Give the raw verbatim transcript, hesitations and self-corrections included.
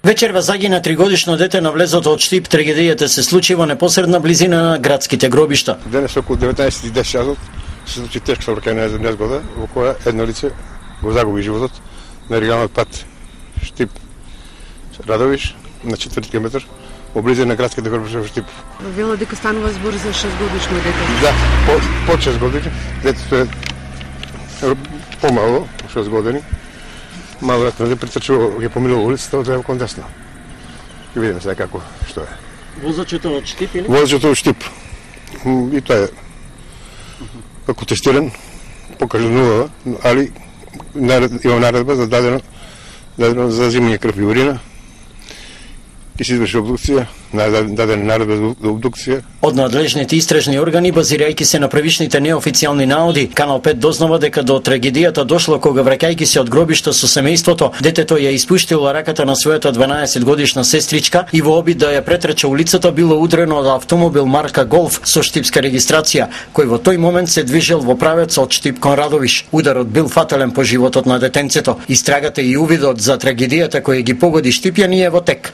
Вечерва загина тригодишно дете на влезот од Штип. Трагедијата се случи во непосредна близина на градските гробишта. Денес околу деветнаесет и десет часот се случи тешка сообраќајна незгода во која едно лице го загуби животот на регионалниот пат Штип Радовиш на четврти километар во близина на градските гробишта во Штип. Вело дека станува збор за шестгодишно дете. Да, по, по шест години. Детето е помало, шест години. Маловеројатно да претрчува, ги поминува улицата од лево кон десно. И видиме сега како, што е. Возачето од Штип или? Возачето од Штип. И тоа е како тестиран, покажнува, али има наредба за дадено, дадено за зимање крв и урина. И се изврши обдукција, дадена наредба за обдукција. Од надлежните истражни органи, базирајќи се на првичните неофицијални наоди, Канал пет дознава дека до трагедијата дошло кога враќајќи се од гробишта со семејството, детето ја испуштило раката на својата дванаесет годишна сестричка и во обид да ја претрча улицата било удрено од автомобил марка Голф со штипска регистрација, кој во тој момент се движел во правец од Штип кон Радовиш. Ударот бил фатален по животот на детенцето. Истрагата и увидот за трагедијата која ги погоди штипјани е во тек.